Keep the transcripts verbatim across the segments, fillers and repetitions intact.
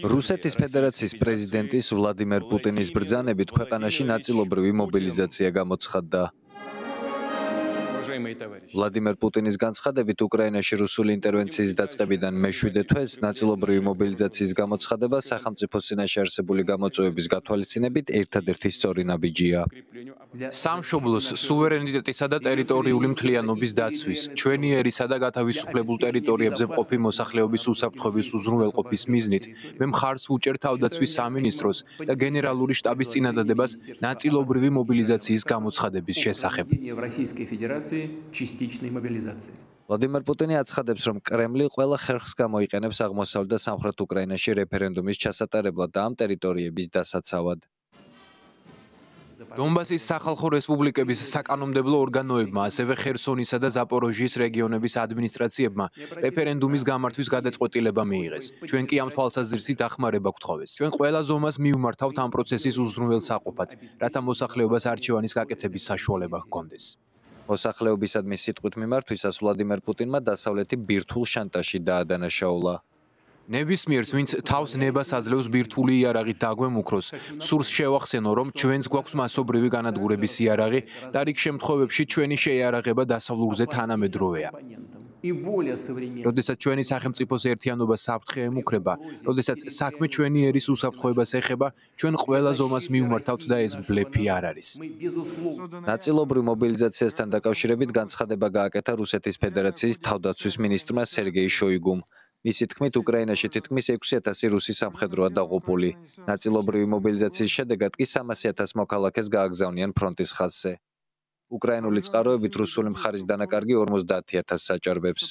რუსეთის ფედერაციის პრეზიდენტის ვლადიმერ პუტინის ბრძანებით ქვეყანაში ნაწილობრივი მობილიზაცია გამოცხადდა. ვლადიმერ პუტინის განცხადებით უკრაინაში რუსული ინტერვენციის დაწყებიდან მეშვიდე თვეს ნაწილობრივი მობილიზაციის გამოცხადება სახელმწიფო წინაშე არსებული გამოწვევების გათვალისწინებით ერთადერთი სწორი ნაბიჯია. სამშობლოს სუვერენიტეტისა და ტერიტორიული მთლიანობის დაცვის, ჩვენი ერისა და გათავისუფლებულ ტერიტორიებზე მყოფი მოსახლეობის უსაფრთხოების უზრუნველყოფის მიზნით, მე მხარს ვუჭერ თავდაცვის სამინისტროს და გენერალური შტაბის წინადადებას ნაწილობრივი მობილიზაციის გამოცხადების შესახებ. ვლადიმერ პუტინი აცხადებს, რომ კრემლი ყველა ხერხს გამოიყენებს აღმოსავლეთ და სამხრეთ უკრაინაში რეფერენდუმის ჩასატარებლად და ამ ტერიტორიების დასაცავად. დონბასის სახალხო რესპუბლიკების საკანონმდებლო ორგანოებმა, ასევე ხერსონისა და ზაპოროჟიის რეგიონების ადმინისტრაციებმა რეფერენდუმის გამართვის გადაწყვეტილება მიიღეს. ჩვენ კი ამ თვალსაზრისით დახმარება გვთხოვეს. ჩვენ ყველა ზომას მივმართავთ ამ პროცესის უზრუნველსაყოფად, რათა მოსახლეობას არჩევანის გაკეთების საშუალება ჰქონდეს. მოსახლეობისადმი სიტყვით მიმართვისას ვლადიმერ პუტინმა დასავლეთი ბირთვულ შანტაჟში დაადანაშაულა. ნებისმიერს, ვინც თავს ნებას აძლევს ბირთვული იარაღით დაგვემუქროს, სურს შევახსენო, რომ ჩვენს გვაქვს მასობრივი განადგურების იარაღი და რიგ შემთხვევებში ჩვენი შეიარაღება დასავლურზე თანამედროვეა. როდესაც ჩვენი სახელმწიფოს ერთიანობა საფრთხე ემუქრება, როდესაც საქმე ჩვენი ერის უსაფრთხოებას ეხება, ჩვენ ყველა ზომას მივმართავთ და ეს ბლეფი არ არის. ნაწილობრივ მობილიზაციასთან დაკავშირებით განცხადება გააკეთა რუსეთის ფედერაციის თავდაცვის მინისტრმა სერგეი შოიგუმ. მისი თქმით, უკრაინაში თითქმის ექვსი ათასი რუსი სამხედროა დაღუპული. ნაწილობრივი მობილიზაციის შედეგად კი სამასი ათას მოქალაქეს გააგზავნიან ფრონტის ხაზზე. უკრაინული წყაროებით რუსული მხარის დანაკარგი ორმოცდაათი ათასს აჭარბებს.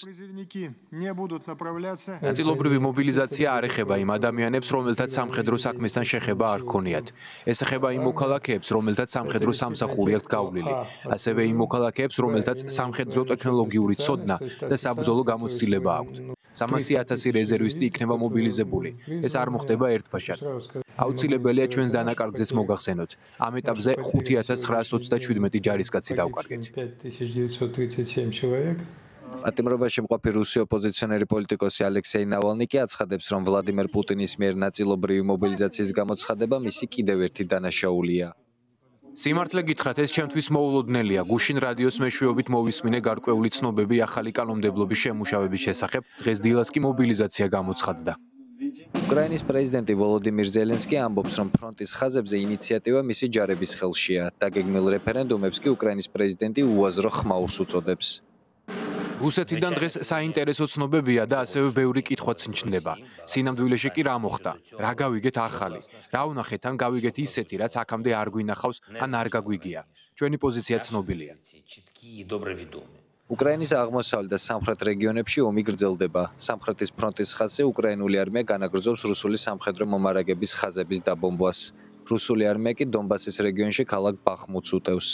ნაწილობრივი მობილიზაცია არ ეხება იმ ადამიანებს, რომელთაც სამხედრო საქმესთან შეხება არ ჰქონიათ. ეს ეხება იმ მოქალაქეებს, რომელთაც სამხედრო სამსახური აქვთ გავლილი, ასევე იმ მოქალაქეებს, რომელთაც სამხედრო ტექნოლოგიური ცოდნა და საბრძოლო გამოცდილება აქვთ. სამასი ათასი რეზერვისტი იქნება მობილიზებული. ეს არ მოხდება ერთბაშად. აუცილებელია ჩვენს დანაკარგზეც მოგახსენოთ. ამ ეტაპზე ხუთი ათას ცხრაას ოცდაჩვიდმეტი ჯარისკაცი დავკარგეთ. პატიმრობაში მყოფი რუსი ოპოზიციონერი პოლიტიკოსი ალექსეი ნავალნი კი აცხადებს, რომ ვლადიმერ პუტინის მიერ ნაწილობრივი მობილიზაციის გამოცხადება მისი კიდევ ერთი დანაშაულია. სიმართლე გითხრათ, ეს ჩემთვის მოულოდნელია. გუშინ რადიოს მეშვეობით მოვისმინე გარკვეული ცნობები ახალი კანონმდებლობის შემუშავების შესახებ, დღეს დილას კი მობილიზაცია გამოცხადდა. უკრაინის პრეზიდენტი ვოლოდიმირ ზელენსკი ამბობს, რომ ფრონტის ხაზებზე ინიციატივა მისი ჯარების ხელშია. დაგეგმილ რეფერენდუმებს კი უკრაინის პრეზიდენტი უაზრო ხმაურს უწოდებს. რუსეთიდან დღეს საინტერესო ცნობებია და ასევე ბევრი კითხვაც მჩნდება. სინამდვილეში კი რა მოხდა? რა გავიგეთ ახალი? რა ვნახეთ ან გავიგეთ ისეთი, რაც აქამდე არ გვინახავს ან არ გაგვიგია? ჩვენი პოზიცია ცნობილია. უკრაინის აღმოსავლეთ და სამხრეთ რეგიონებში ომი გრძელდება. სამხრეთის ფრონტის ხაზზე უკრაინული არმია განაგრძობს რუსული სამხედრო მომარაგების ხაზების დაბომბვას. რუსული არმია კი დონბასის რეგიონში ქალაქ ბახმუთს უტევს.